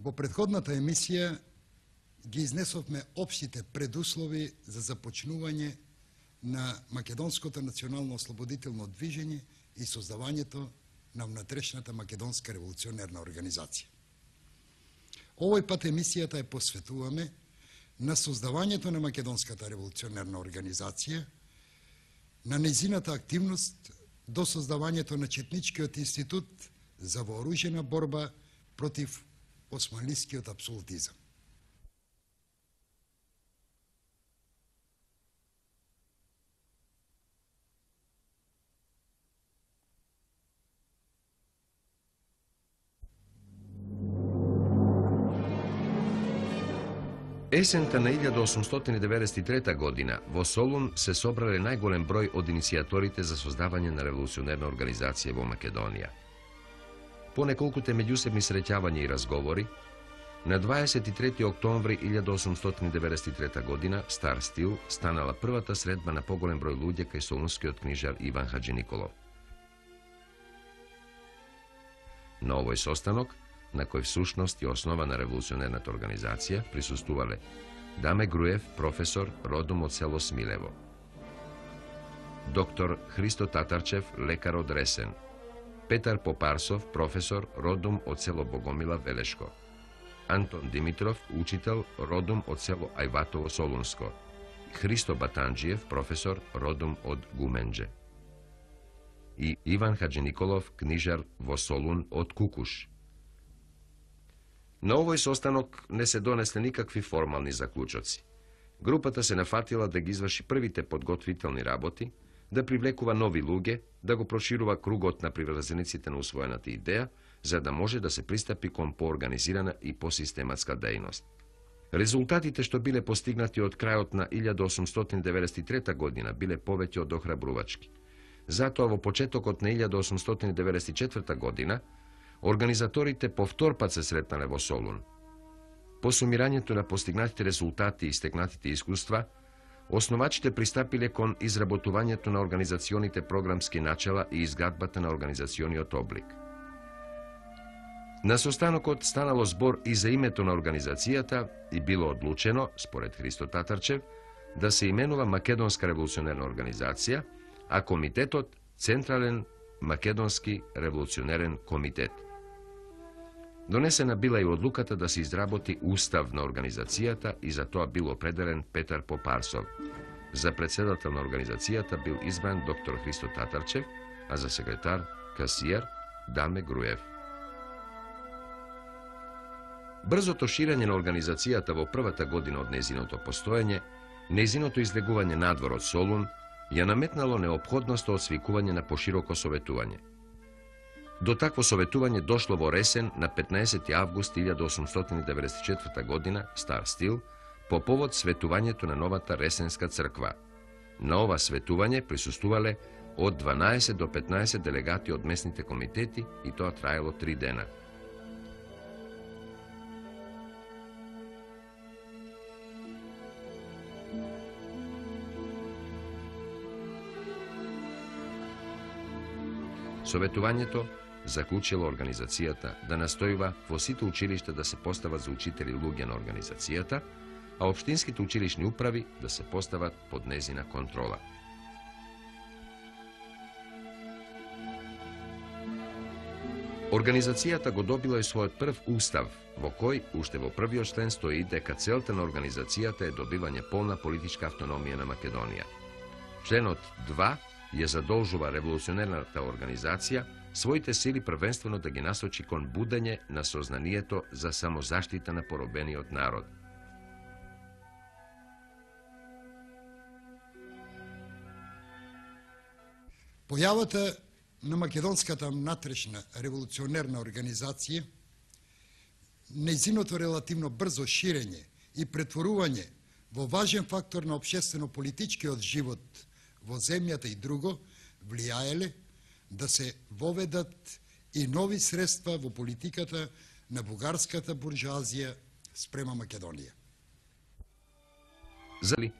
Во претходната емисија ги изнесовме општите предуслови за започнување на Македонското национално ослободително движење и создавањето на внатрешната Македонска револуционерна организација. Овој пат емисијата ја посветуваме на создавањето на Македонската револуционерна организација, на нејзината активност до создавањето на Четничкиот институт за вооружена борба против османлискиот апсолутизам. Есента на 1893 година во Солун се собрале најголем број од иницијаторите за создавање на револуционерна организација во Македонија. По неколкуте меѓусебни среќавања и разговори, на 23. октомври 1893 година Стар Стил станала првата средба на поголем број луѓе кај солунскиот книжар Иван Хаџиниколов. На овој состанок, на кој всушност е основа на револуционерната организација, присуствувале Даме Груев, професор, родом од село Смилево; доктор Христо Татарчев, лекар од Ресен; Петар Попарсов, професор, родом од село Богомила, Велешко; Антон Димитров, учител, родом од село Ајватово, Солунско; Христо Батанџиев, професор, родом од Гуменџе; и Иван Хаџиниколов, книжар во Солун од Кукуш. На овој состанок не се донесле никакви формални заклучоци. Групата се нафатила да ги изврши првите подготвителни работи, да привлекува нови луѓе, да го проширува кругот на приврзениците на усвоената идеја, за да може да се пристапи кон поорганизирана и посистематска дејност. Резултатите што биле постигнати од крајот на 1893 година биле повеќе од охрабрувачки. Затоа во почетокот на 1894 година организаторите повтор пат се сретнале во Солун. По сумирањето на постигнатите резултати и стекнатите искуства, основачите пристапиле кон изработувањето на организационите програмски начела и изградбата на организациониот облик. На состанокот станало збор и за името на организацијата и било одлучено, според Христо Татарчев, да се именува Македонска револуционерна организација, а комитетот Централен Македонски револуционерен комитет. Донесена била и одлуката да се изработи устав на организацијата и за тоа бил определен Петар Попарсов. За председател на организацијата бил избран доктор Христо Татарчев, а за секретар касиер Даме Груев. Брзото ширење на организацијата во првата година од незиното постоење, незиното излегување надвор од Солун, ја наметнало неопходноста од свикување на пошироко советување. До такво советување дошло во Ресен на 15. август 1894 година, Стар Стил, по повод светувањето на новата Ресенска црква. На ова светување присуствувале од 12 до 15 делегати од местните комитети и тоа траело 3 дена. Советувањето заклучило организацијата да настојува во сите училишта да се постават за учители луѓе на организацијата, а општинските училишни управи да се постават под незина контрола. Организацијата го добила и својот прв устав, во кој уште во првиот член стои дека целта на организацијата е добивање полна политичка автономија на Македонија. Членот 2 ја задолжува револуционерната организација своите сили првенствено да ги насочи кон будење на сознанието за самозаштита на поробениот народ. Појавата на Македонската внатрешна револуционерна организација, нејзиното релативно брзо ширење и претворување во важен фактор на општествено-политичкиот живот во земјата и друго, влијаеле да се воведат и нови средства во политиката на бугарската буржуазија спрема Македонија. Зали,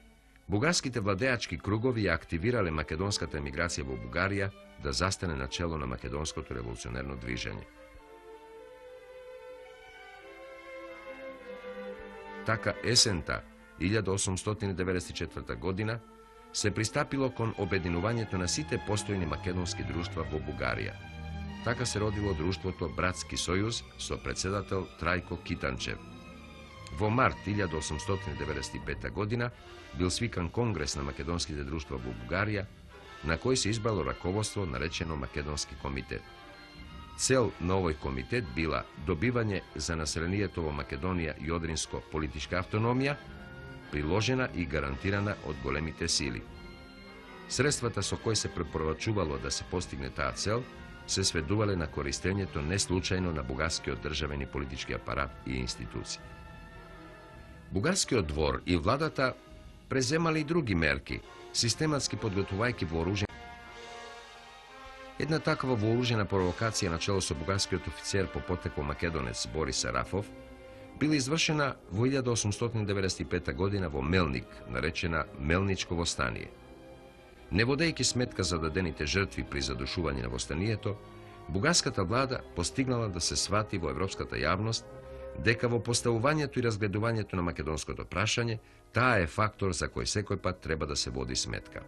бугарските владеачки кругови ја активирале македонската емиграција во Бугарија да застане на чело на македонското револуционерно движење. Така есента 1894 година се пристапило кон обединувањето на сите постојни македонски друштва во Бугарија. Така се родило друштвото Братски сојуз со председател Трајко Китанчев. Во март 1895 година бил свикан конгрес на македонските друштва во Бугарија, на кој се избрало раководство наречено Македонски комитет. Цел на овој комитет била добивање за населението во Македонија и Одринско политичка автономија, приложена и гарантирана од големите сили. Средствата со кои се препорачувало да се постигне таа цел се сведувале на користењето неслучајно на бугарскиот државен и политички апарат и институции. Бугарскиот двор и владата преземали и други мерки, систематски подготвувајќи вооружени. Една таква вооружена провокација на чело со бугарскиот офицер по потекло македонец Борис Арафов била извршена во 1895 година во Мелник, наречена Мелничко востание. Не водејќи сметка за дадените жртви при задушување на востанието, бугарската влада постигнала да се свати во европската јавност дека во поставувањето и разгледувањето на македонското прашање, таа е фактор за кој секој пат треба да се води сметка.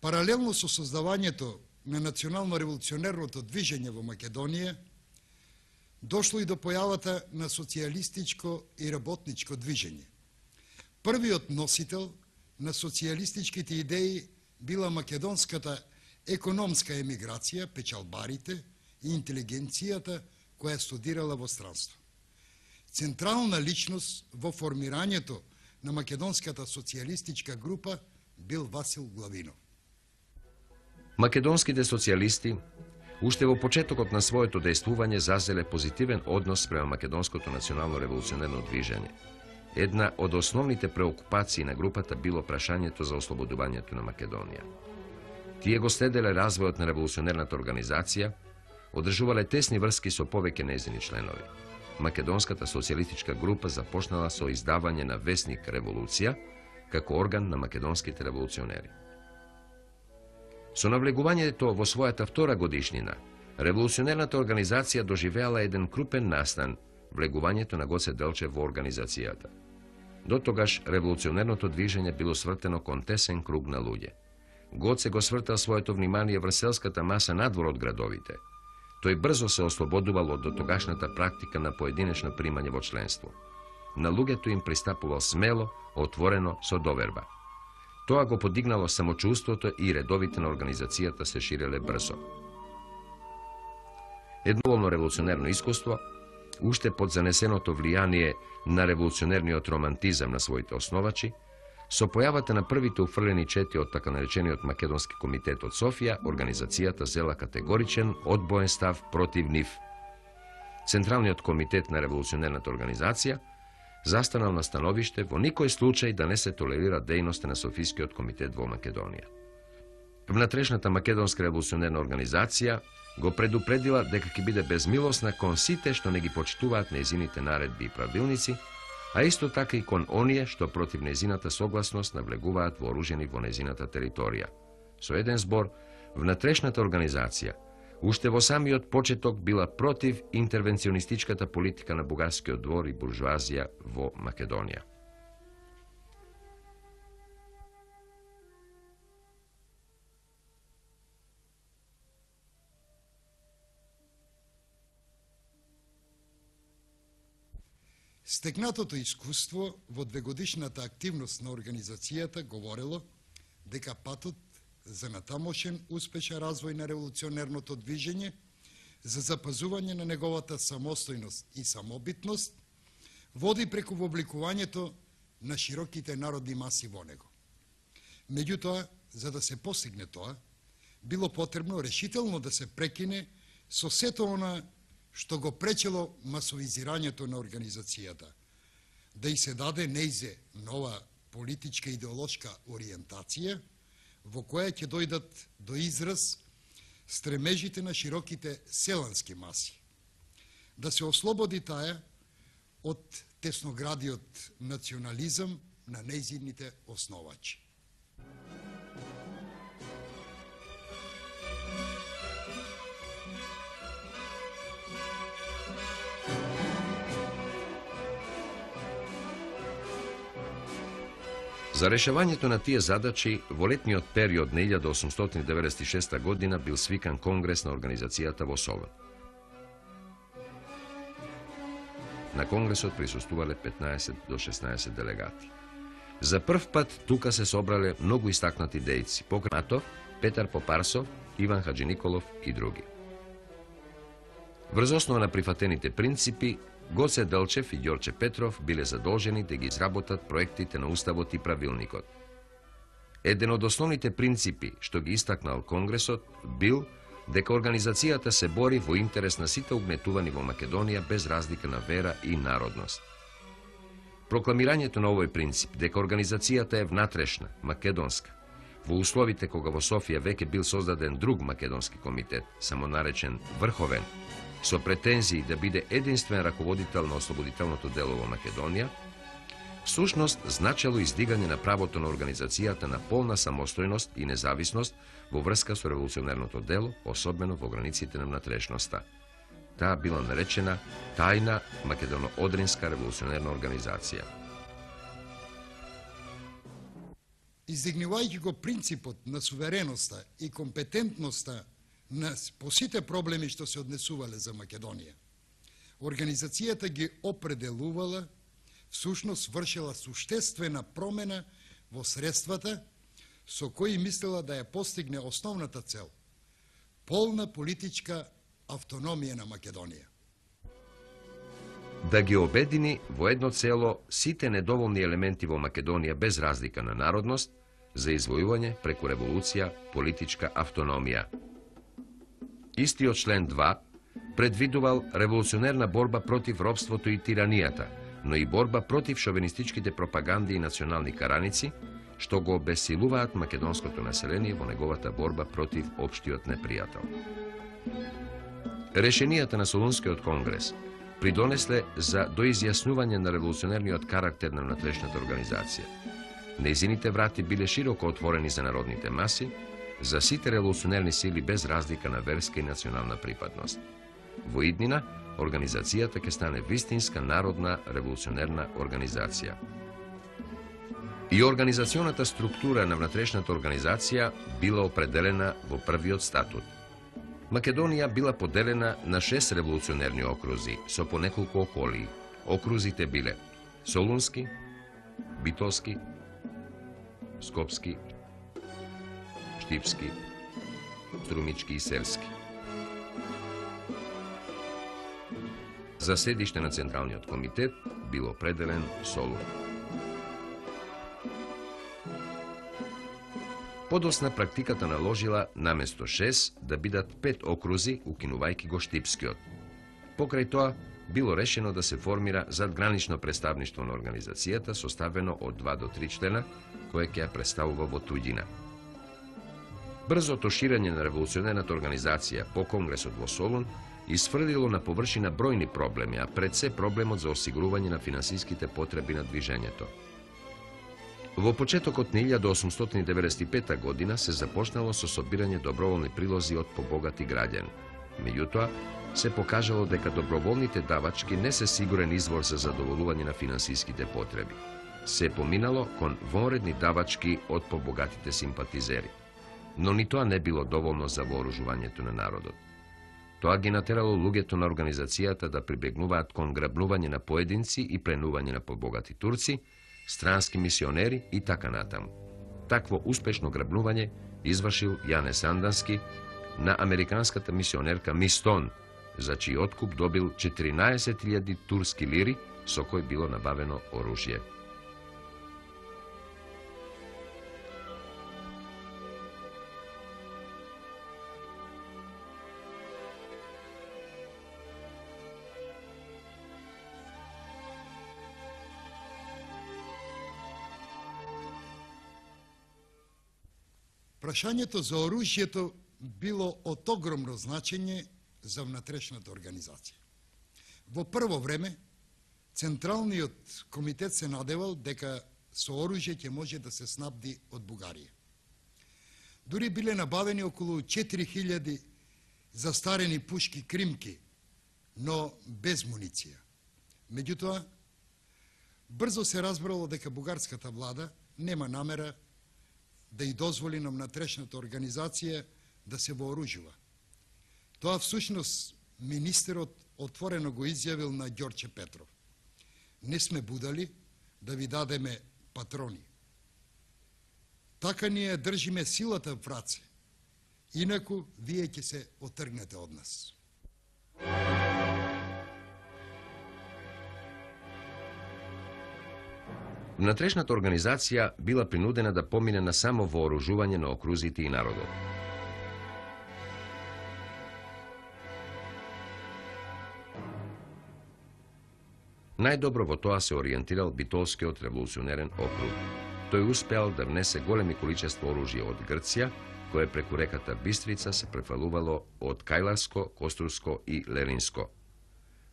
Паралелно со создавањето на национално-револуционерното движење во Македонија, дошло и до појавата на социјалистичко и работничко движење. Првиот носител на социјалистичките идеи била македонската економска емиграција, печалбарите и интелигенцијата која студирала во странство. Централна личност во формирањето на македонската социјалистичка група бил Васил Главинов. Македонските социјалисти уште во почетокот на своето дејствување зазеле позитивен однос према македонското национално-револуционерно движење. Една од основните преокупации на групата било прашањето за ослободувањето на Македонија. Тие го следеле развојот на револуционерната организација, одржувале тесни врски со повеќе нејзини членови. Македонската социјалистичка група започнала со издавање на весник Револуција како орган на македонските револуционери. Со навлегувањето во својата втора годишнина, револуционерната организација доживеала еден крупен настан, влегувањето на Гоце Делчев во организацијата. До тогаш револуционерното движење било свртено кон тесен круг на луѓе. Гоце го свртал своето внимание врз селската маса надвор од градовите. Тој брзо се ослободувал од дотогашната практика на поединечно примање во членство. На луѓето им пристапувал смело, отворено, со доверба. Тоа го подигнало самочувството и редовите на организацијата се ширеле брзо. Едноволно револуционерно искуство, уште под занесеното влијание на револуционерниот романтизам на своите основачи, со појавата на првите уфрлени чети од така наречениот Македонски комитет од Софија, организацијата зела категоричен, одбоен став против нив. Централниот комитет на револуционерната организација застанал на становиште во никој случај да не се толерира дејноста на Софискиот комитет во Македонија. Внатрешната македонска револуционерна организација го предупредила дека ќе биде безмилосна кон сите што не ги почитуваат нејзините наредби и правилници, а исто така и кон оние што против нејзината согласност навлегуваат вооружени во нејзината територија. Со еден збор, внатрешната организација уште во самиот почеток била против интервенционистичката политика на бугарскиот двор и буржуазија во Македонија. Стекнатото искуство во двегодишната активност на организацијата говорело дека патот за натамошен успешен развој на револуционерното движење, за запазување на неговата самостојност и самобитност, води преку вобликувањето на широките народни маси во него. Меѓутоа, за да се постигне тоа, било потребно решително да се прекине со сето она што го пречело масовизирањето на организацијата, да и се даде нејзе нова политичка идеолошка ориентација, во која ќе дојдат до израз стремежите на широките селански маси. Да се ослободи таа од тесноградиот национализам на нејзините основачи. За решавањето на тие задачи, во летниот период на 1896 година бил свикан конгрес на организацијата во Солун. На конгресот присуствувале 15 до 16 делегати. За прв пат тука се собрале многу истакнати дејци, покрај Матов, Петар Попарсов, Иван Хаджи Николов и други. Врз основа на прифатените принципи, Гоце Делчев и Ѓорче Петров биле задолжени да ги изработат проектите на Уставот и правилникот. Еден од основните принципи што ги истакнал Конгресот бил дека организацијата се бори во интерес на сите угнетувани во Македонија без разлика на вера и народност. Прокламирањето на овој принцип дека организацијата е внатрешна, македонска, во условите кога во Софија веќе бил создаден друг македонски комитет, самонаречен Врховен, со претензии да биде единствен раководител на ослободителното дело во Македонија, всушност значело издигање на правото на организацијата на полна самостојност и независност во врска со револуционерното дело, особено во границите на внатрешноста. Таа била наречена Тајна Македоно-Одринска револуционерна организација. Издигнувајќи го принципот на сувереноста и компетентноста по сите проблеми што се однесувале за Македонија, организацијата ги определувала, всушност вршила суштествена промена во средствата со кои мислела да ја постигне основната цел – полна политичка автономија на Македонија. Да ги обедини во едно цело сите недоволни елементи во Македонија без разлика на народност за извојување преку револуција политичка автономија. Истиот член 2 предвидувал револуционерна борба против робството и тиранијата, но и борба против шовинистичките пропаганди и национални караници, што го обесилуваат македонското население во неговата борба против општиот непријател. Решенијата на Солунскиот конгрес придонесле за доизјаснување на револуционерниот карактер на внатрешната организација. Нејзините врати биле широко отворени за народните маси, за сите револуционерни сили без разлика на верска и национална припадност. Во иднина, организацијата ќе стане вистинска народна револуционерна организација. И организационата структура на внатрешната организација била определена во првиот статут. Македонија била поделена на 6 револуционерни окрузи со по неколку околии. Окрузите биле Солунски, Битолски, Скопски, Штипски, Струмички и Серски. За седиште на Централниот комитет бил определен Солун. Подосна практиката наложила наместо 6 да бидат 5 окрузи, укинувајќи го Штипскиот. Покрај тоа, било решено да се формира задгранично представништво на организацијата, составено од 2 до 3 члена, кое ќе ја представува во туѓина. Брзото ширење на револуционерната организација по Конгресот во Солун исфрлило на површина бројни проблеми, а пред се проблемот за осигурување на финансиските потреби на движењето. Во почетокот на 1895 година се започнало со собирање доброволни прилози од побогати граѓани. Меѓутоа, се покажало дека доброволните давачки не се сигурен извор за задоволување на финансиските потреби. Се поминало кон вонредни давачки од побогатите симпатизери. Но ни тоа не било доволно за вооружувањето на народот. Тоа ги натерало луѓето на организацијата да прибегнуваат кон грабнување на поединци и пленување на побогати турци, странски мисионери и така натаму. Такво успешно грабнување извршил Јане Сандански на американската мисионерка Мистон, за чиј откуп добил 14.000 турски лири, со кој било набавено оружје. Прашањето за оружјето било од огромно значење за внатрешната организација. Во прво време, Централниот комитет се надевал дека со оружје ќе може да се снабди од Бугарија. Дури биле набавени околу 4000 застарени пушки кримки, но без муниција. Меѓутоа, Брзо се разбрало дека бугарската влада нема намера да и дозволи на внатрешната организација да се вооружува. Тоа всушност министерот отворено го изјавил на Ѓорче Петров. Не сме будали да ви дадеме патрони. Така ние држиме силата в раце, инаку вие ќе се отргнете од нас. Внатрешната организација била принудена да помине на само вооружување на окрузите и народот. Најдобро во тоа се ориентирал Битолскиот револуционерен округ. Тој успеал да внесе големи количества оружје од Грција, кое преку реката Бистрица се префалувало од Кајларско, Костурско и Леринско.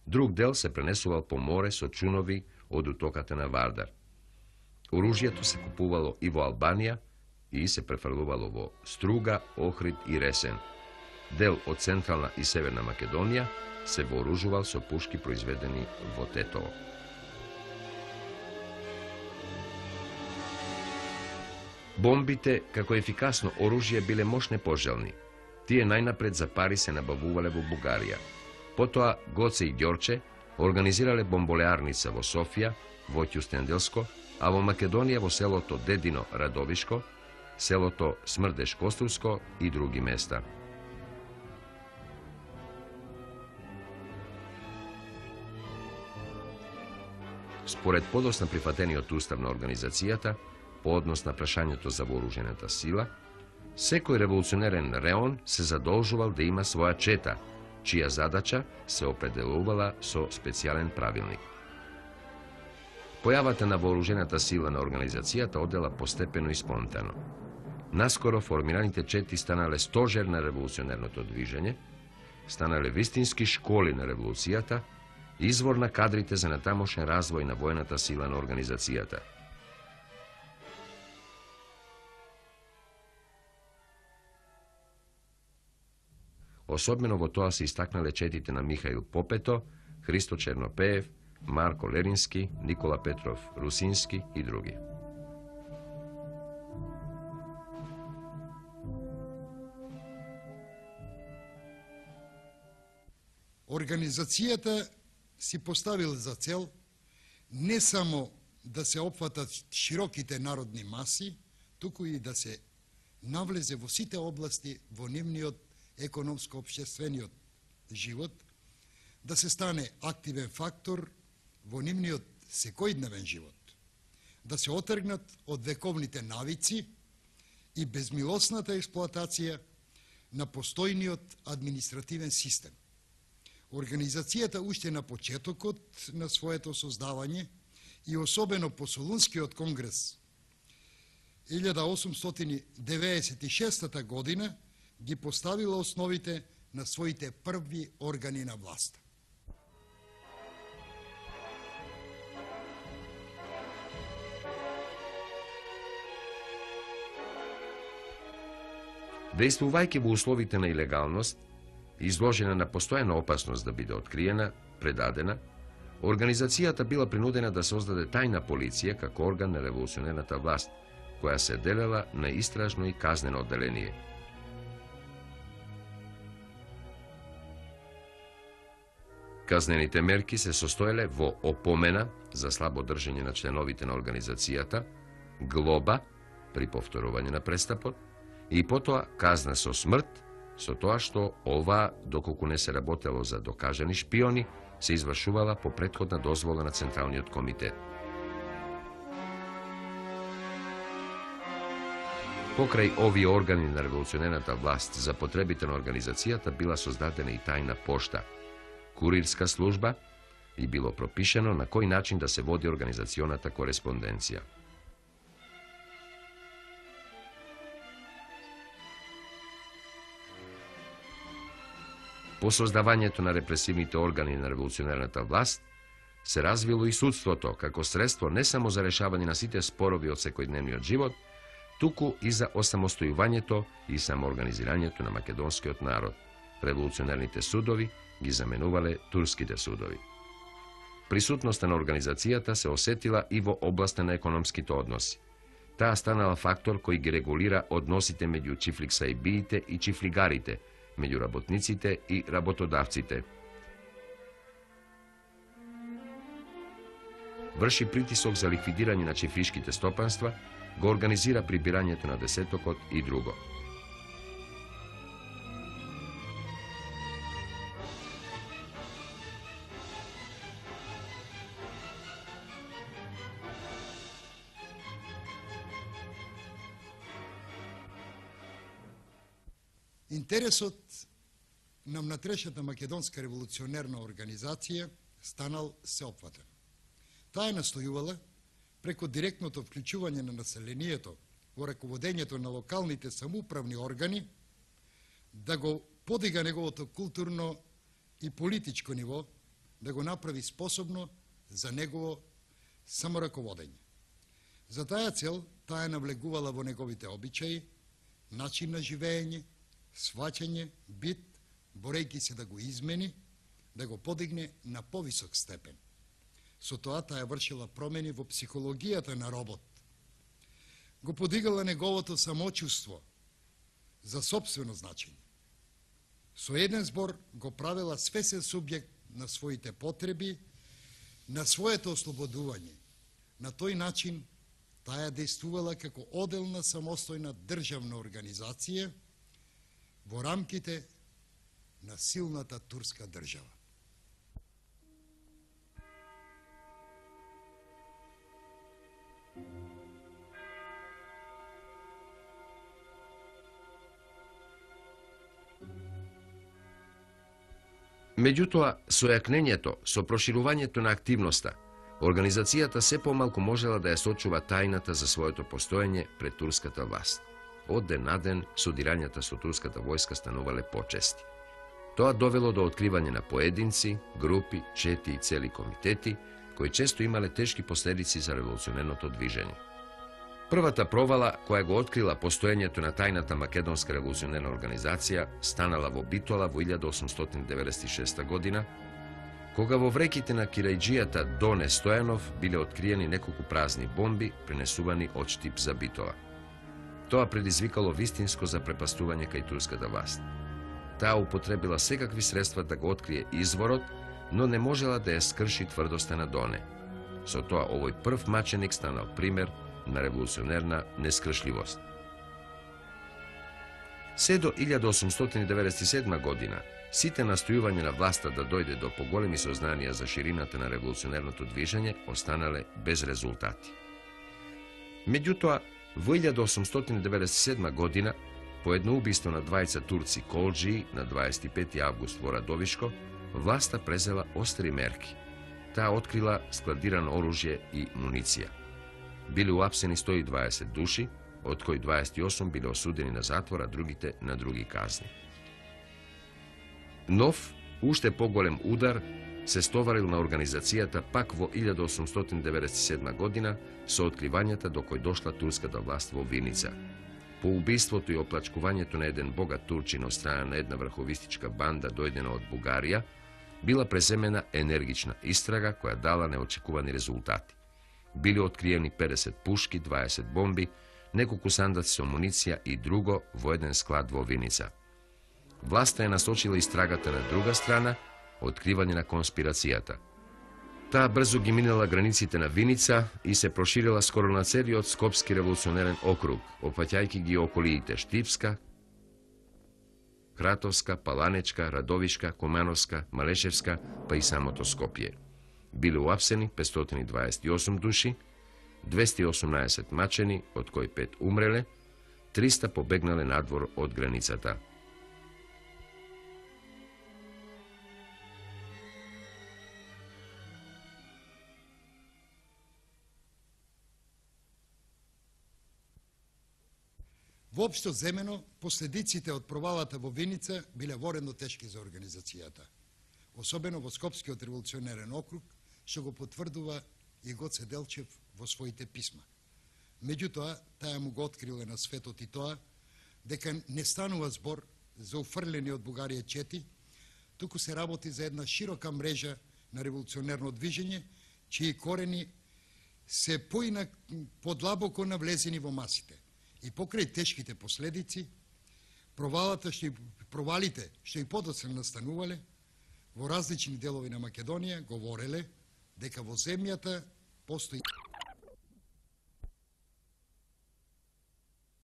Друг дел се пренесувал по море со чунови од утоката на Вардар. Оружјето се купувало и во Албанија и се префрлувало во Струга, Охрид и Ресен. Дел од Централна и Северна Македонија се вооружувал со пушки произведени во Тетово. Бомбите, како ефикасно оружје, биле мощне пожелни. Тие најнапред за пари се набавувале во Бугарија. Потоа Гоце и Ѓорче организирале бомболеарница во Софија, во Ќустенделско, а во Македонија во селото Дедино Радовишко, селото Смрдеш Костурско и други места. Според подосна прифатениот устав на организацијата, по однос на прашањето за вооружената сила, секој револуционерен реон се задолжувал да има своја чета, чија задача се определувала со специјален правилник. Појавата на вооружената сила на организацијата одела постепено и спонтано. Наскоро формираните чети станале стожер на револуционерното движење, станале вистински школи на револуцијата, извор на кадрите за натамошен развој на војната сила на организацијата. Особено во тоа се истакнале четите на Михаил Попето, Христо Чернопеев, Марко Лерински, Никола Петров Русински и други. Организацијата си поставил за цел не само да се опфатат широките народни маси, туку и да се навлезе во сите области во нивниот економско-општествениот живот, да се стане активен фактор во нивниот секојдневен живот, да се отргнат од вековните навици и безмилосната експлоатација на постојниот административен систем. Организацијата уште на почетокот на своето создавање и особено по Солунскиот конгрес 1896 година ги поставила основите на своите први органи на власт. Действувајќи во условите на илегалност, изложена на постојана опасност да биде откриена, предадена, организацијата била принудена да создаде тајна полиција како орган на револуционерната власт, која се делела на истражно и казнено одделение. Казнените мерки се состоеле во опомена за слабо држење на членовите на организацијата, глоба при повторување на престапот и потоа казна со смрт, со тоа што ова, доколку не се работело за докажани шпиони, се извршувала по претходна дозвола на Централниот комитет. Покрај овие органи на револуционерната власт за потребите на организацијата била создадена и тајна пошта, курирска служба и било пропишено на кој начин да се води организационата кореспонденција. По создавањето на репресивните органи на револуционерната власт, се развило и судството како средство не само за решавање на сите спорови од секојдневниот живот, туку и за осамостојувањето и самоорганизирањето на македонскиот народ. Револуционерните судови ги заменувале турските судови. Присутноста на организацијата се осетила и во областа на економските односи. Таа станала фактор кој ги регулира односите меѓу чифликсаибиите и чифлигарите, меѓу работниците и работодавците. Врши притисок за ликвидирање на чифлишките стопанства, го организира прибирањето на десетокот и друго. Интересот на внатрешната македонска револуционерна организација станал сеопфатен. Таа настојувала преку директното вклучување на населението во раководењето на локалните самоуправни органи да го подига неговото културно и политичко ниво, да го направи способно за негово самораководење. За таа цел таа навлегувала во неговите обичаи, начин на живење, сваќање, бит, борејќи се да го измени, да го подигне на повисок степен. Со тоа таа вршила промени во психологијата на робот. Го подигала неговото самочувство за сопствено значење. Со еден збор го правила свесен субјект на своите потреби, на своето ослободување. На тој начин таа дејствувала како оделна самостојна државна организација во рамките на силната турска држава. Меѓутоа, со јакнењето, со проширувањето на активноста, организацијата се помалку можела да ја сочува тајната за своето постоење пред турската власт. Од ден на ден, судирањата со турската војска станувале почести. Тоа довело до откривање на поединци, групи, чети и цели комитети, кои често имале тешки последици за револуционерното движење. Првата провала, која го открила постоењето на тајната македонска револуционерна организација, станала во Битола во 1896 година, кога во вреките на кирајџијата Доне Стојанов биле откриени неколку празни бомби, пренесувани од Штип за Битола. Тоа предизвикало вистинско запрепастување кај турската власт. Таа употребила секакви средства да го открие изворот, но не можела да ја скрши тврдоста на Доне. Со тоа овој прв маченик станал пример на револуционерна нескршливост. Се до 1897 година, сите настојувања на власта да дојде до поголеми сознанија за ширината на револуционерното движење останале без резултати. Меѓутоа, во 1897 година, по едно убиство на двајца турци колџии на 25. август во Радовишко, власта презела остри мерки. Таа открила складирано оружје и муниција. Биле уапсени 120 души, од кои 28 биле осудени на затвор, а другите на други казни. Нов, уште поголем удар се стоварил на организацијата пак во 1897 година со откривањата до кој дошла турската власт во Виница. По убиството и оплачкувањето на еден богат турчин од страна на една врховистичка банда дојдена од Бугарија, била преземена енергична истрага која дала неочекувани резултати. Били откриени 50 пушки, 20 бомби, неколку сандаци со муниција и друго во еден склад во Виница. Власта е насочила истрагата на друга страна, откривање на конспирацијата. Таа брзо ги минала границите на Виница и се проширила скоро на целиот Скопски револуционерен округ, опфаќајќи ги околиите Штипска, Кратовска, Паланечка, Радовишка, Кумановска, Малешевска, па и самото Скопје. Биле уапсени 528 души, 218 мачени, од кои 5 умреле, 300 побегнале надвор од границата. Воопшто земено, последиците од провалата во Виница биле воредно тешки за организацијата, особено во Скопскиот револуционерен округ, што го потврдува и Гоце Делчев во своите писма. Меѓутоа, таа му го откриле на светот и тоа, дека не станува збор за уфрлени од Бугарија чети, туку се работи за една широка мрежа на револуционерно движење, чии корени се подлабоко навлезени во масите. И покрај тешките последици, провалите што и подоцна настанувале во различни делови на Македонија, говореле дека во земјата постои